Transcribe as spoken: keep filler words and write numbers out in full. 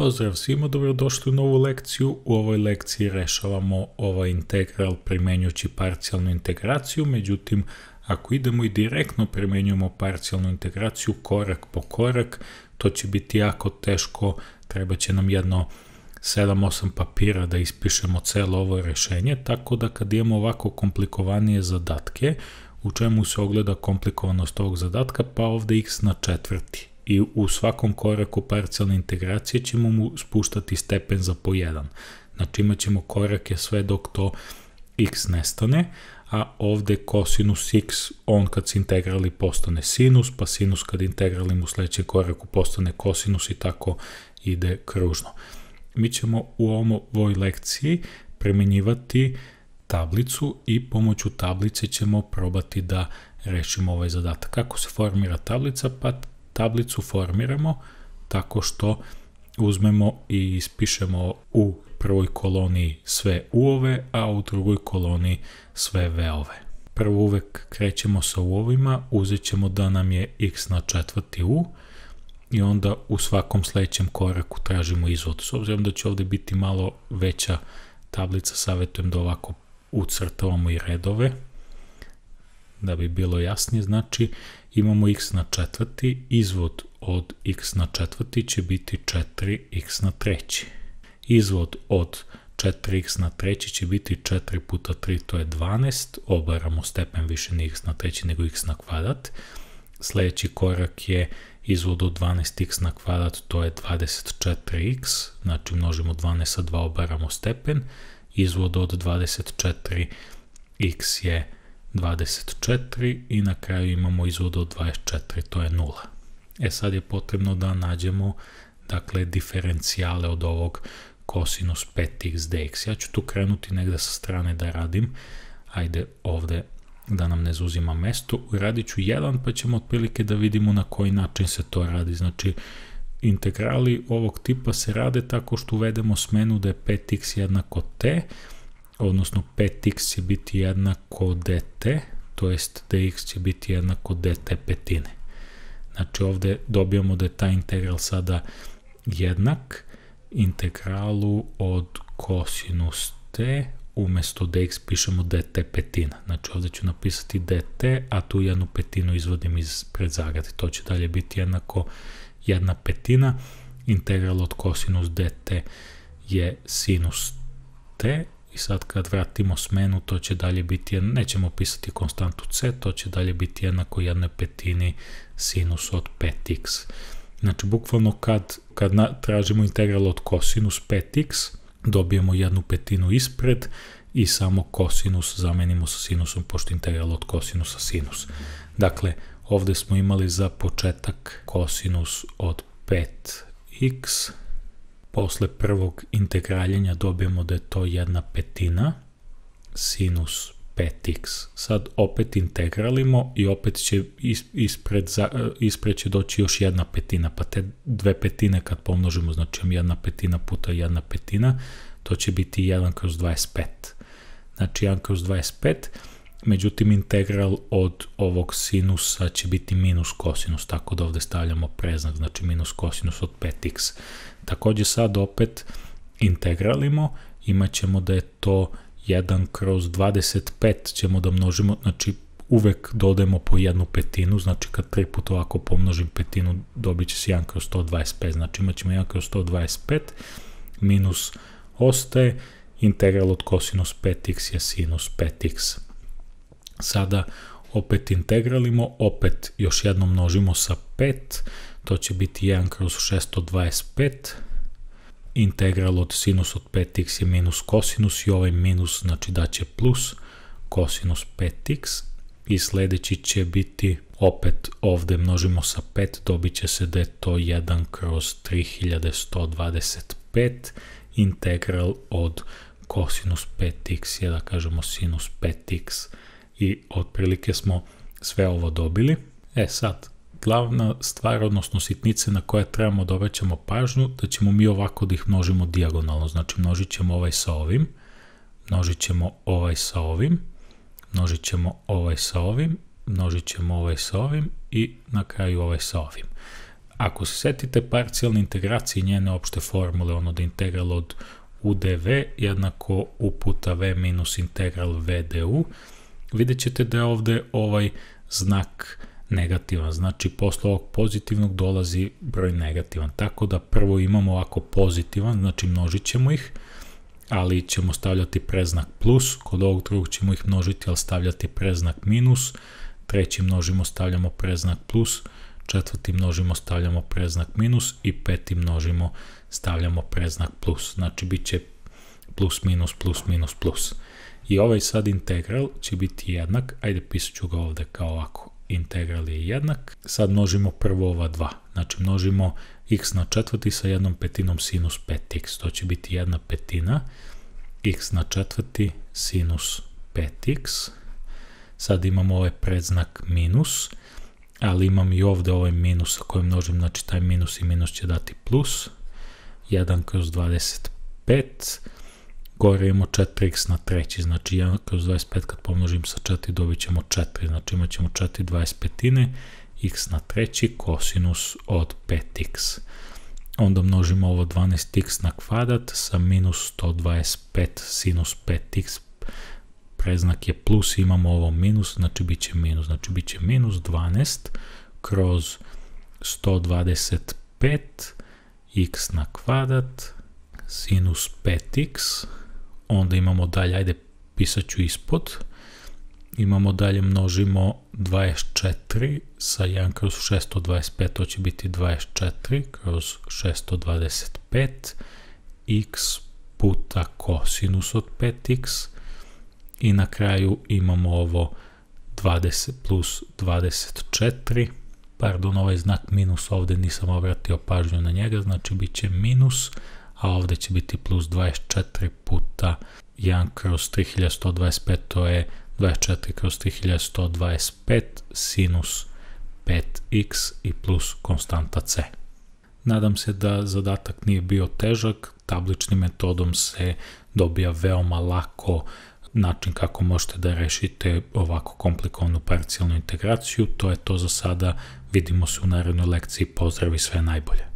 Pozdrav svima, dobrodošli u novu lekciju. U ovoj lekciji rešavamo ovaj integral primenjujući parcijalnu integraciju, međutim, ako idemo i direktno primenjujemo parcijalnu integraciju korak po korak, to će biti jako teško, treba će nam jedno sedam osam papira da ispišemo celo ovo rešenje, tako da kad imamo ovako komplikovanije zadatke, u čemu se ogleda komplikovanost ovog zadatka, pa ovde x na četvrti. I u svakom koraku parcijalne integracije ćemo mu spuštati stepen za po jedan. Znači imat ćemo korake sve dok to x nestane, a ovde kosinus x, on kad se integrali postane sinus, pa sinus kad integralimo u sledećem koraku postane kosinus i tako ide kružno. Mi ćemo u ovoj lekciji primenjivati tablicu i pomoću tablice ćemo probati da rešimo ovaj zadatak. Kako se formira tablica? Pa tablicu formiramo tako što uzmemo i ispišemo u prvoj koloni sve u-ove, a u drugoj koloni sve v-ove. Prvo uvek krećemo sa u-ovima, uzet ćemo da nam je x na četvrti u i onda u svakom sledećem koraku tražimo izvod. S obzirom da će ovde biti malo veća tablica, savjetujem da ovako ucrtavamo i redove, da bi bilo jasnije. Znači imamo x na četvrti, izvod od x na četvrti će biti četiri x na treći. Izvod od četiri x na treći će biti četiri puta tri, to je dvanaest, obaramo stepen, više nije x na treći nego x na kvadrat. Sledeći korak je izvod od dvanaest x na kvadrat, to je dvadeset četiri x, znači množimo dvanaest sa dva, obaramo stepen. Izvod od dvadeset četiri x je dvadeset četiri i na kraju imamo izvod od dvadeset četiri, to je nula. E sad je potrebno da nađemo, dakle, diferencijale od ovog kosinus pet x dx. Ja ću tu krenuti negde sa strane da radim, ajde ovde da nam ne zauzima mesto, uradit ću jedan pa ćemo otprilike da vidimo na koji način se to radi. Znači, integrali ovog tipa se rade tako što uvedemo smenu da je pet x jednako t, odnosno pet x će biti jednako dt, to jest dx će biti jednako dt petine. Znači ovde dobijamo da je taj integral sada jednak integralu od kosinus t, umesto dx pišemo dt petina. Znači ovde ću napisati dt, a tu jednu petinu izvodim iz predzagrade. To će dalje biti jednako jedna petina. Integral od kosinus dt je sinus t. I sad kad vratimo smenu, to će dalje biti, nećemo pisati konstantu c, to će dalje biti jednako jednoj petini sinus od pet x. Znači, bukvalno kad, kad na, tražimo integral od kosinus pet x, dobijemo jednu petinu ispred i samo kosinus zamenimo sa sinusom, pošto integral od kosinusa sinus. Dakle, ovde smo imali za početak kosinus od pet x, posle prvog integraljenja dobijemo da je to jedna petina sinus pet x. Sad opet integralimo i opet će ispred, ispred će doći još jedna petina, pa te dve petine kad pomnožimo, znači jedna petina puta jedna petina, to će biti jedan kroz dvadeset pet. Znači jedan kroz dvadeset pet, međutim integral od ovog sinusa će biti minus kosinus, tako da ovde stavljamo preznak, znači minus kosinus od pet x. Takođe sad opet integralimo, imat ćemo da je to jedan kroz dvadeset pet ćemo da množimo, znači uvek dodajemo po jednu petinu, znači kad tri puta ovako pomnožim petinu dobit će se jedan kroz sto dvadeset pet, znači imat ćemo jedan kroz sto dvadeset pet, minus ostaje, integral od kosinus pet x je sinus pet x. Sada opet integralimo, opet još jednom množimo sa pet, to će biti jedan kroz šesto dvadeset pet, integral od sinus od pet x je minus kosinus i ovaj minus znači da će plus kosinus pet x i sledeći će biti opet ovde množimo sa pet, dobit će se da je to jedan kroz tri hiljade sto dvadeset pet, integral od kosinus pet x je da kažemo sinus pet x i otprilike smo sve ovo dobili. E sad, glavna stvar, odnosno sitnice na koje trebamo da obraćamo pažnju, da ćemo mi ovako da ih množimo dijagonalno, znači množit ćemo ovaj sa ovim, množit ćemo ovaj sa ovim, množit ćemo ovaj sa ovim, množit ćemo ovaj sa ovim i na kraju ovaj sa ovim. Ako se setite parcijalne integracije i njene opšte formule, ono da integral od u dv jednako u puta v minus integral v du, vidjet ćete da je ovde ovaj znak negativan, znači posle ovog pozitivnog dolazi broj negativan, tako da prvo imamo ovako pozitivan, znači množit ćemo ih, ali ćemo stavljati preznak plus, kod ovog drugog ćemo ih množiti, ali stavljati preznak minus, treći množimo, stavljamo preznak plus, četvrti množimo, stavljamo preznak minus i peti množimo, stavljamo preznak plus, znači bit će plus minus plus minus plus. I ovaj sad integral će biti jednak, ajde pisat ću ga ovde kao ovako, integral je jednak, sad množimo prvo ova dva, znači množimo x na četvrti sa jednom petinom sinus pet x, to će biti jedna petina, x na četvrti sinus pet x, sad imamo ovaj predznak minus, ali imam i ovde ovaj minus sa kojim množim, znači taj minus i minus će dati plus, jedan kroz dvadeset pet, gore imamo četiri x na treći, znači jedan kroz dvadeset pet kad pomnožim sa četiri dobit ćemo četiri, znači imat ćemo četiri dvadeset petine, x na treći kosinus od pet x. Onda množimo ovo dvanaest x na kvadrat sa minus sto dvadeset pet sinus pet x, preznak je plus, imamo ovo minus, znači bit će minus, znači bit će minus dvanaest kroz sto dvadeset pet x na kvadrat sinus pet x, onda imamo dalje, ajde pisat ću ispod, imamo dalje množimo dvadeset četiri sa jedan kroz šesto dvadeset pet, to će biti dvadeset četiri kroz šesto dvadeset pet x puta kosinus od pet x i na kraju imamo ovo dvadeset plus dvadeset četiri, pardon, ovaj znak minus ovde nisam obratio pažnju na njega, znači bit će minus, a ovde će biti plus dvadeset četiri puta jedan kroz tri hiljade sto dvadeset pet, to je dvadeset četiri kroz tri hiljade sto dvadeset pet sinus pet x i plus konstanta c. Nadam se da zadatak nije bio težak, tabličnim metodom se dobija veoma lako način kako možete da rešite ovako komplikovanu parcijalnu integraciju. To je to za sada, vidimo se u narednoj lekciji, pozdrav i sve najbolje.